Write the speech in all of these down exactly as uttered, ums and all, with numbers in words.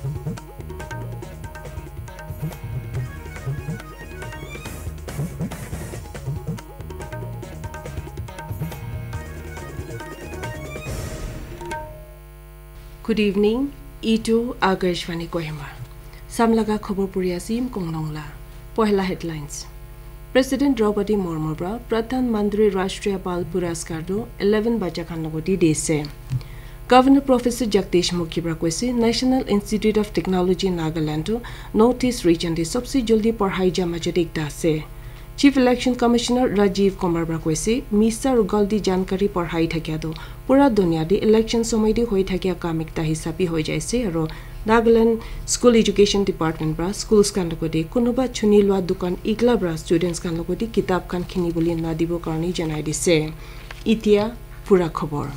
Good evening. Itu Akashvani Kohima. Samlaga khobor puri asim konglong la. Pohela headlines. President Draupadi Murmu pra Pradhan Mantri Rashtriya Bal Puraskar tu eleven bacha khan logoti dise. Governor Professor Jagdish Mukhi pra koise National Institute of Technology Nagaland tu North East region de sobse jaldi padhai ja majot ekta ase. Chief Election Commissioner Rajiv Kumar pra koise misa aru galti jankari padhai thakia tu pura dunia de election somoi de hoi thakia kam ekta hisabi hoi jaise aru Nagaland School Education Department pra schools khan logoti kunuba chuni lua dukan igla pra students khan logoti kitab khan khini bole na dibo karne janai dise. Itia pura khobor.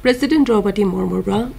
President Draupadi Murmu pra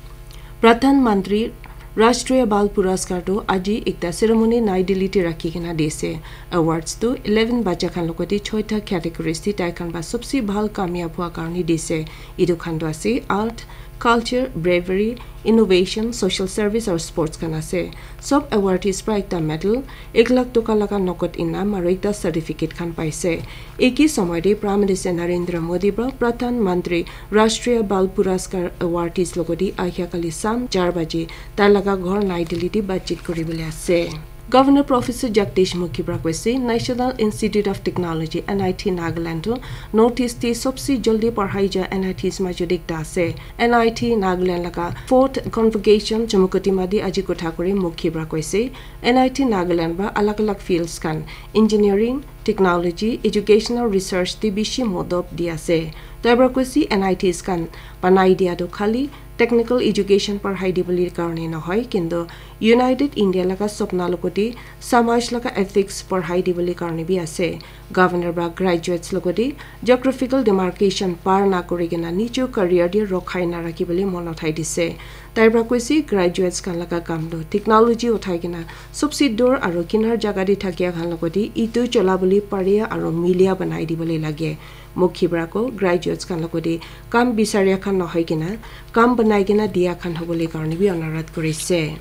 Pradhan Mantri Rashtriya Bal Puraskar tu aji ekta ceremony Nai Delhi te rakhi kena dise. Awards tu eleven bacha khan logoti choita categories te tai khan ba sobse bhal kamyab hua karne dise. Itu khan tu ase art, culture, bravery, innovation, social service aru sports khan ase. Sob awardees pra ekta medal, ek lakh toka laga nokot inam aru ekta certificate khan paise. Eki somoi de Prime Minister Narendra Modi pra Pradhan Mantri Rashtriya Bal Puraskar awardees logoti ahia kali sam char baji tai laga ghor Nai Delhi de batchit kuri bole ase. Governor Professor Jagdish Mukhi pra koise National Institute of Technology, N I T, Nagaland tu North East te sobse jaldi padhai ja N I Ts majot ekta ase. N I T Nagaland laga fourth convocation Chumukedima de aji kotha kuri Mukhi pra koise N I T Nagaland pra alag alag fields khan engineering, technology, educational research te bishi modot di ase. Tai pra koise N I Ts khan banai dia tu khali technical education padhai dibole karne nohoi, kintu United India laga sopna logoti samaj laga ethics padhai dibole karne bi ase. Governor pra graduates logoti geographical demarcation par na kuri kena nijo career de rokhai na rakhi bole mon uthai dise. Tai pra koise graduates khan laga kam tu technology uthai kena sobse dur aru kinar jaga de thakia khan logoti itu chola bole paria aru milia banai dibole lage. Mukhi pra ko graduates khan logoti kam bisaria khan nohoi kena kam banai kena dia khan hobole karne bi onurodh kurise.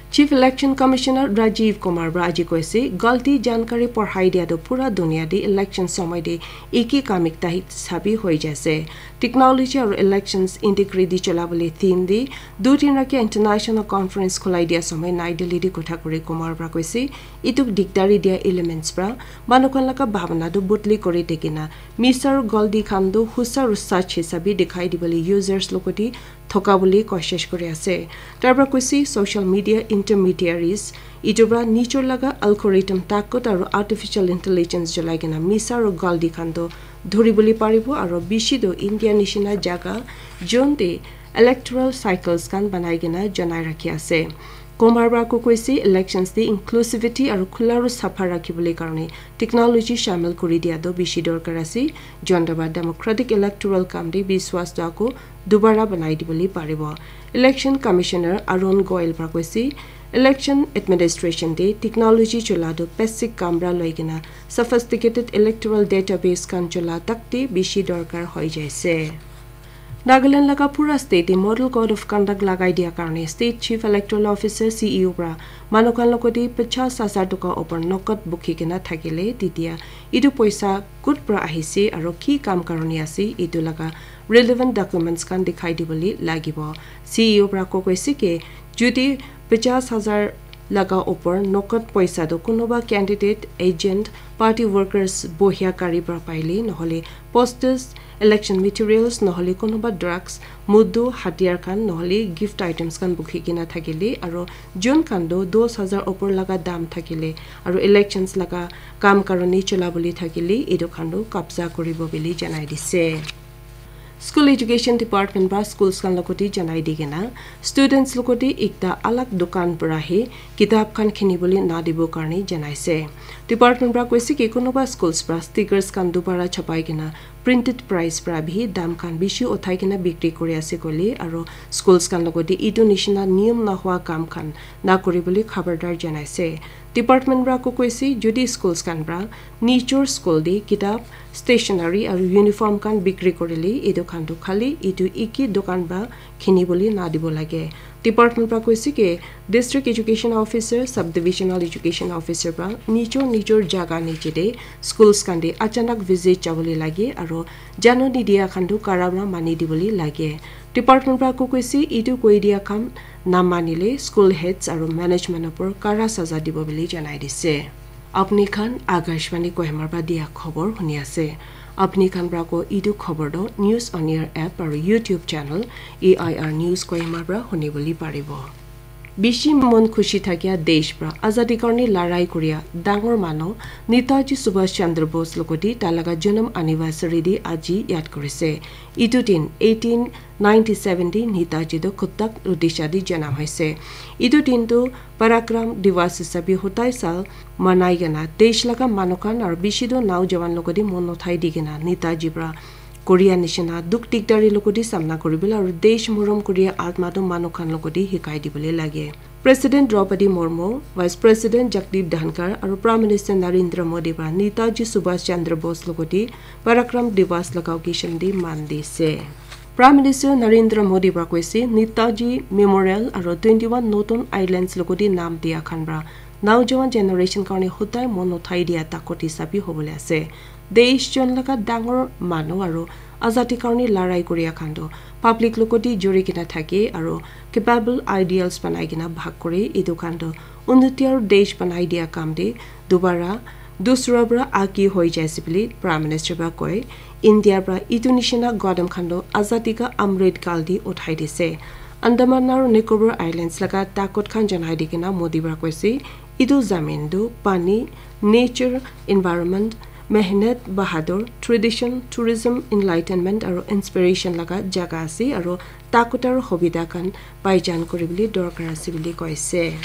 Chief Election Commissioner Rajiv Kumar pra aji koise galti jankari padhai dia tu pura dunia de election somoi de eki kam ekta hisabi hoi jaise. Technology aru elections integrity chola bole theme de du din rakia international conference khulai dia somoi Nai Delhi de kotha kuri Kumar pra koise itu dikdari dia elements pra manu khan laga bhabana tu bodli kuri de kena misa aru galti khan tu husa aru sach hisabi dikhai dibole users logoti thoka bole koshish kuri ase. Tai pra koise social media intermediaries itu pra nijor laga algorithm takot aru artificial intelligence cholai kena misa aru galti khan tu dhuri bole paribo aru bishi tu India nishina jaga jon te electoral cycles khan banai kena janai rakhi ase. Kumar pra ko koise elections te inclusivity aru khula aru sapha rakhi bole karne technology shamil kuri dia tu bishi dorkar ase. Jonta pra democratic electoral kam de biswas tu ako dubara banai dibole paribo. Election Commissioner Arun Goel pra koise election administration de technology chola tu basic kam pra loi kena sophisticated electoral database khan chola tak de bishi dorkar hoi jaise. Nagaland laga pura state te model code of conduct lagai dia karne state chief electoral officer, C E O pra manu khan logoti pachas hazar toka opor nokot bukhi kena thakile titia itu poisa kut pra ahise aru ki kam karone ase itu laga relevant documents khan dikhai dibole lagibo. C E O pra ko koise ke jodi pachas hazar laga opor nokot poisa tu kunuba candidate, agent, party workers bohia gari pra paile nohole posters, election materials nohole kunuba drugs, mudu, hatiyar khan nohole gift items khan bukhi kena thakile aru jun khan tu dos hazar opor laga dam thakile aru elections laga kam karone chola bole thakile itu khan tu kabza kuribo bole janai dise. School Education Department pra schools khan logoti janai di kena students logoti ekta alag dukan pra hi kitab khan khini bole na dibo karne janaise. Department pra koise ki kunuba schools pra stickers khan dubara chapai kena printed price pra bi dam khan bishi uthai kena bikri kuri ase koile aru schools khan logoti itu nishina niyom na hua kam khan na kuri bole khabardar janaise. Department pra ko koise jodi schools khan pra nijor school de kitab, stationery aru uniform khan bikri kurile itu khan tu khali itu eki dukan pra khini bole na dibo lage. Department pra koise ke District Education Officer, Sub Divisional Education Officer pra nijor nijor jaga niche te schools khan te achanak visit jabole lage aro jano nidia khan tu kara pra mani dibole lage. Department pra ko koise etu koi dia khan namanile school heads aro management opor kara saza dibo bole janai dise. Apni khan Akashvani Kohima pra dia khobor huni ase. Apni khan pra ko etu khobor do News on Air app aro YouTube channel A I R News Kohima pra huni bole paribo. Bishi mon khushi thakia desh pra azadi karne larai kuria dangor manu Netaji Subhash Chandra Bose logoti talaga janam anniversary di aji yad kurise. Itu din eighteen ninety-seven di Netaji do Cuttack Odisha di janam hoise. Itu din tu Parakram Divas hisabi hotai sal manai kena desh laga manu khan aro bishi do naujawan logoti mon uthai di kena Netaji pra Korea nishina duk dikdari logoti samna kuribole aro desh morom Korea atma do manu khan logoti hikai dibole lage. President Draupadi Murmu, Vice President Jagdeep Dhankhar aro Prime Minister Narendra Modi pra Netaji Subhash Chandra Bose logoti Parakram Divas laga occasion di man dise. Prime Minister Narendra Modi pra koise Netaji Memorial aro twenty-one Northern Islands logoti naam dia khan pra naujawan generation karne hodai mon uthai dia takot hisabi hobole ase. Desh jon laga dangor manu aro azadi karne larai kuria khan tu public logoti juri kena thake aro capable ideals banai kena bhag kore. Etu khan tu unnati aro desh banai dia kam te dubara dusra pra agi hoi jaise bole Prime Minister pra koi. India pra etu nishina gadam khan tu azadi ka Amrit Kal di uthai dise. Andaman aro Nicobar Islands laga takot khan janai di kena Modi pra koise, etu zamin tu pani, nature, environment, mehnat, bahadur, tradition, tourism, enlightenment aro inspiration laga jaga ase aro takot aro hobida khan paijan kuribole dorkar ase bole koise.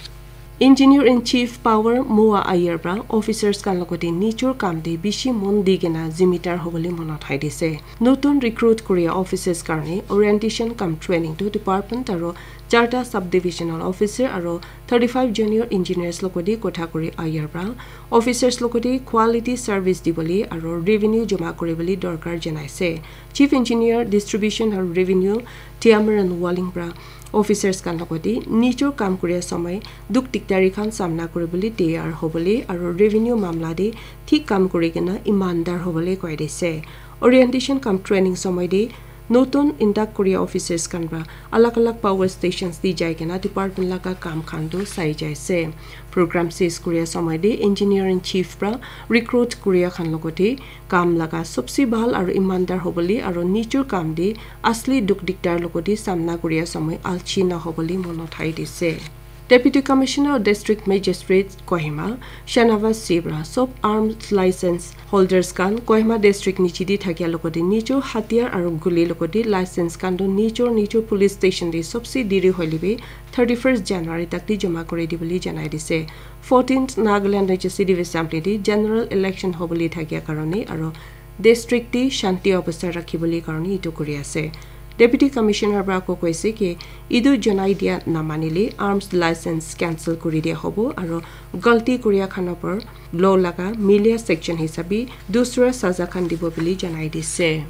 Engineer in Chief Power Moa Ayer pra officers khan logoti nijor kam te bishi mon di kena zimidar hobole mon uthai dise. Notun recruit kuria officers karne orientation cum training tu department aro charta sub divisional officer aro thirty-five junior engineers logoti kotha kuri Ayer pra officers logoti quality service dibole aro revenue joma kuribole dorkar janaise. Chief Engineer Distribution aro Revenue Tiamaran Waling pra officers khan logoti nijor kam kuria samay duk dikdari khan samna kuribole tayar hobole aro revenue mamla te thik kam kuri kena imandar hobole koi dise. Orientation cum training samay te notun induct kuria officers khan pra alag alag power stations te jai kena department laga kam khan tu sai jaise. Program ses kuria samay te engineer in chief pra recruit kuria khan logoti kam laga sobse bhal aro imandar hobole aro nijor kam te asli duk dikdar logoti samna kuria samay alchi na hobole mon uthai dise. Deputy Commissioner of District Magistrate Kohima, Shanavas Sibra, sob arms license holders khan Kohima District niche te thakia logoti nijor hatiyar aro guli logoti license khan tu nijor nijor police station te sobse deri hoile bi thirty-first January tak te joma kuri dibole janai dise. Fourteenth Nagaland Legislative Assembly te general election hobole thakia karone aro district te shanti obostha rakhibole karone etu kuri ase. Deputy Commissioner pra ako koise ki etu janai dia namanile arms license cancel kuri dia hobo aro galti kuria khan opor law laga milia section hisabe dusra saza khan dibo bole janai dise.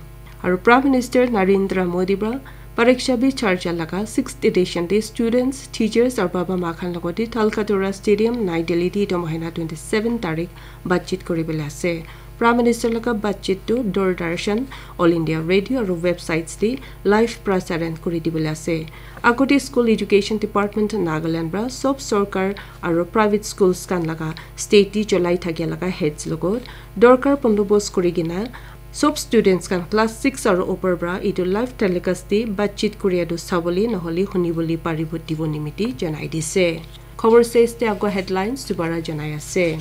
Aro Prime Minister Narendra Modi pra Pariksha Pe Charcha laga sixth edition te students, teachers aro baba ma khan logoti Talkatora Stadium, Nai Delhi te etu mahina twenty-seven tarik batchit kuribole ase. Prime Minister laga batchit tu Doordarshan, All India Radio aro websites te live prasaran kuri dibole ase. Agote School Education Department Nagaland pra sob sorkar aro private schools khan laga state te cholai thakia laga heads logot dorkar bondobos kuri kena sob students khan class six aro upor pra etu live telecast te batchit kuria tu sabole nohole hunibole paribo dibo nimite janai dise. Khobor ses te ako headlines dubara janai ase.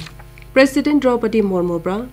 President Draupadi Murmu pra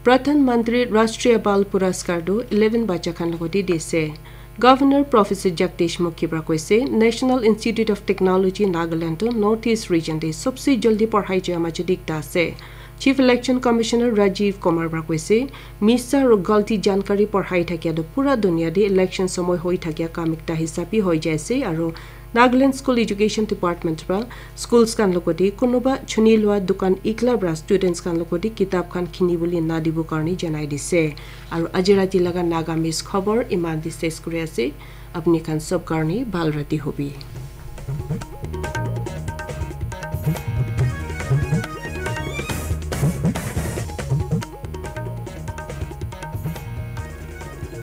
Pradhan Mantri Rashtriya Bal Puraskar tu eleven bacha khan logoti dise. Governor Professor Jagdish Mukhi pra koise National Institute of Technology Nagaland tu North East region te sobse jaldi padhai jia majo te ekta ase. Chief Election Commissioner Rajiv Kumar pra koise misa aro galti jankari padhai thakia tu pura dunia te election samay hoi thakia kam ekta hisabe hoi jaise aro Nagaland School Education Department pra schools khan logoti kunuba chuni lua dukan ekla pra students khan logoti kitab khan khinibole nadibo karone janai dise. Aro aji rati laga Nagamese khobor iman te ses kuri ase. Apni khan sob karone bhal rati hobi.